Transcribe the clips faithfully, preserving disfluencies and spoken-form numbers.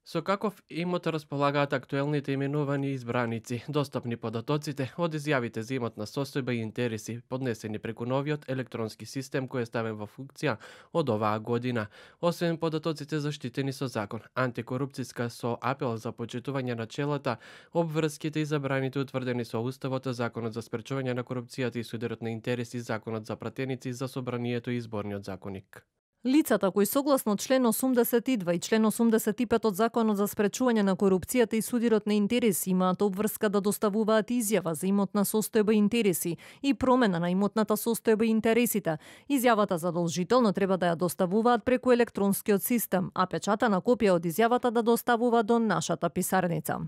Со каков имот располагаат актуелните именувани избраници, достапни податоците од изјавите за имотна состојба и интереси, поднесени преку новиот електронски систем кој е ставен во функција од оваа година. Освен податоците заштитени со закон, антикорупцијска со апел за почитување на челата, обврските и забраните утврдени со Уставот, Законот за спречување на корупцијата и судирот на интереси, Законот за пратеници, за собранието и изборниот законник. Лицата кои согласно член осумдесет и два и член осумдесет и пет од Законот за спречување на корупцијата и судирот на интереси имаат обврска да доставуваат изјава за имотна состојба и интереси и промена на имотната состојба и интересите. Изјавата задолжително треба да ја доставуваат преку електронскиот систем, а печатана копија од изјавата да доставуваат до нашата писарница.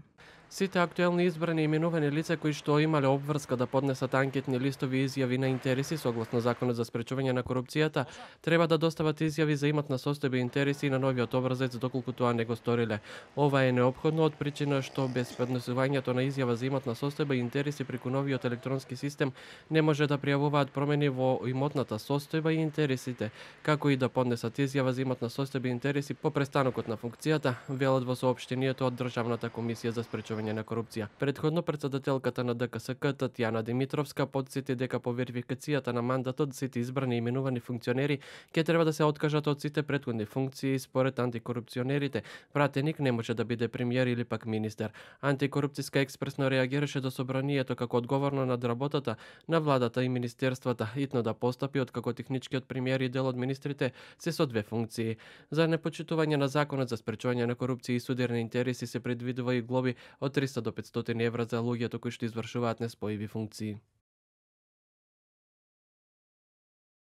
Сите актуелни избрани именувани лица кои што имале обврска да поднесат анкетни листови и изјави на интереси согласно Законот за спречување на корупцијата, треба да достават изјави за имотна состојба и интереси на новиот образец доколку тоа не го сториле. Ова е неопходно од причина што без поднесувањето на изјава за имотна состојба и интереси преку новиот електронски систем не може да пријавуваат промени во имотната состојба и интересите, како и да поднесат изјава за имотна состојба и интереси по престанокот на функцијата, велат во соопштението од Државната комисија за спречување на корупција. Предходно претседателката на Д К С К Татјана Димитровска потсети дека по верификацијата на мандатот сите избрани и именувани функционери ќе треба да се откажат од сите претходни функции. Според антикорупционерите, пратеник не може да биде премиер или пак министер. Антикорупцијска експресно реагираше до собранието како одговорно над работата на владата и министерствата, итно да постапи откако техничкиот премиер и дел од министрите се со две функции. За непочитување на Законот за спречување на корупција и судир на интереси се предвидува и глоби од триста до петстотини евра за луѓето кои што извршуваат неспојиви функции.